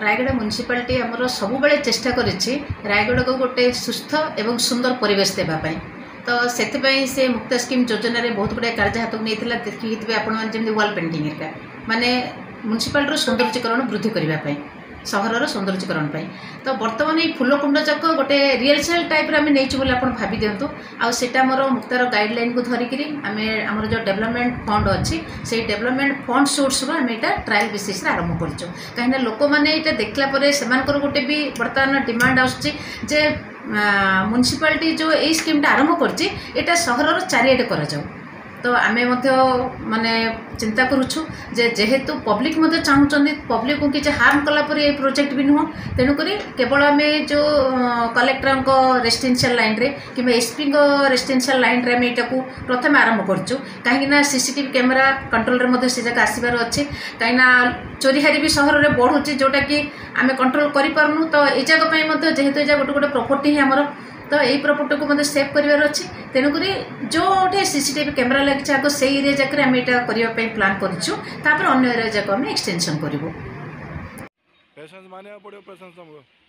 Rayagada municipality ଆମର ସବୁବେଳେ ଚେଷ୍ଟା କରିଛି ରାୟଗଡ଼ାକୁ ଗୋଟେ ସୁସ୍ଥ ଏବଂ ସୁନ୍ଦର ପରିବେଶ ଦେବା ପାଇଁ। ତ ସେଥିପାଇଁ ସେ ମୁକ୍ତା ସ୍କିମ୍ ଯୋଜନାରେ ବହୁତ ଗୁଡ଼ିଏ କାର୍ଯ୍ୟ ହାତକୁ ନେଇଥିଲା। ଦେଖିଥିବେ ଆପଣମାନେ, ଯେମିତି ୱାଲ୍ ପେଣ୍ଟିଂ ହେରିକା, ମାନେ ମ୍ୟୁନିସିପାଲିଟିର ସୌନ୍ଦର୍ଯ୍ୟକରଣ ବୃଦ୍ଧି କରିବା ପାଇଁ, ସହରର ସୌନ୍ଦର୍ଯ୍ୟକରଣ ପାଇଁ। ତ ବର୍ତ୍ତମାନ ଏଇ ଫୁଲକୁଣ୍ଡ ଯାକ ଗୋଟେ ରିହର୍ସାଲ ଟାଇପ୍ର ଆମେ ନେଇଛୁ ବୋଲି ଆପଣ ଭାବି ଦିଅନ୍ତୁ। ଆଉ ସେଇଟା ଆମର ମୁକ୍ତାର ଗାଇଡ଼ଲାଇନ୍କୁ ଧରିକିରି ଆମେ ଆମର ଯେଉଁ ଡେଭଲପମେଣ୍ଟ ଫଣ୍ଡ ଅଛି, ସେଇ ଡେଭଲପମେଣ୍ଟ ଫଣ୍ଡ ସୋର୍ସରୁ ଆମେ ଏଇଟା ଟ୍ରାଏଲ୍ ବେସିସ୍ରେ ଆରମ୍ଭ କରିଛୁ। କାହିଁକିନା ଲୋକମାନେ ଏଇଟା ଦେଖିଲା ପରେ ସେମାନଙ୍କର ଗୋଟେ ବି ବର୍ତ୍ତମାନ ଡିମାଣ୍ଡ ଆସୁଛି ଯେ ମ୍ୟୁନିସିପାଲିଟି ଯେଉଁ ଏଇ ସ୍କିମ୍ଟା ଆରମ୍ଭ କରିଛି, ଏଇଟା ସହରର ଚାରିଆଡ଼େ କରାଯାଉ। ତ ଆମେ ମଧ୍ୟ ମାନେ ଚିନ୍ତା କରୁଛୁ ଯେ ଯେହେତୁ ପବ୍ଲିକ୍ ମଧ୍ୟ ଚାହୁଁଛନ୍ତି, ପବ୍ଲିକକୁ କିଛି ହାର୍ମ କଲା ପରି ଏଇ ପ୍ରୋଜେକ୍ଟ ବି ନୁହଁ। ତେଣୁକରି କେବଳ ଆମେ ଯେଉଁ କଲେକ୍ଟରଙ୍କ ରେସିଡେନ୍ସିଆଲ ଲାଇନ୍ରେ କିମ୍ବା ଏସ୍ପିଙ୍କ ରେସିଡେନ୍ସିଆଲ ଲାଇନ୍ରେ ଆମେ ଏଇଟାକୁ ପ୍ରଥମେ ଆରମ୍ଭ କରୁଛୁ। କାହିଁକିନା ସିସିଟିଭି କ୍ୟାମେରା କଣ୍ଟ୍ରୋଲରେ ମଧ୍ୟ ସେ ଜାଗା ଆସିବାର ଅଛି, କାହିଁକିନା ଚୋରିହାରି ବି ସହରରେ ବଢ଼ୁଛି, ଯେଉଁଟାକି ଆମେ କଣ୍ଟ୍ରୋଲ କରିପାରୁନୁ। ତ ଏଇ ଜାଗା ପାଇଁ ମଧ୍ୟ, ଯେହେତୁ ଏ ଜାଗା ଗୋଟେ ଗୋଟେ ପ୍ରପର୍ଟି ହିଁ ଆମର, ତ ଏଇ ପ୍ରପର୍ଟିକୁ ମଧ୍ୟ ସେଭ୍ କରିବାର ଅଛି। ତେଣୁକରି ଯେଉଁଠି ସିସିଟିଭି କ୍ୟାମେରା ଲାଗିଛି, ଆଗ ସେଇ ଏରିଆ ଯାକରେ ଆମେ ଏଇଟା କରିବା ପାଇଁ ପ୍ଲାନ୍ କରିଛୁ। ତାପରେ ଅନ୍ୟ ଏରିଆ ଯାକ ଆମେ ଏକ୍ସଟେନସନ୍ କରିବୁ। ପେସେନ୍ସ ମାନିବାକୁ ପଡ଼ିବ, ପେସେନ୍ସ ତମକୁ।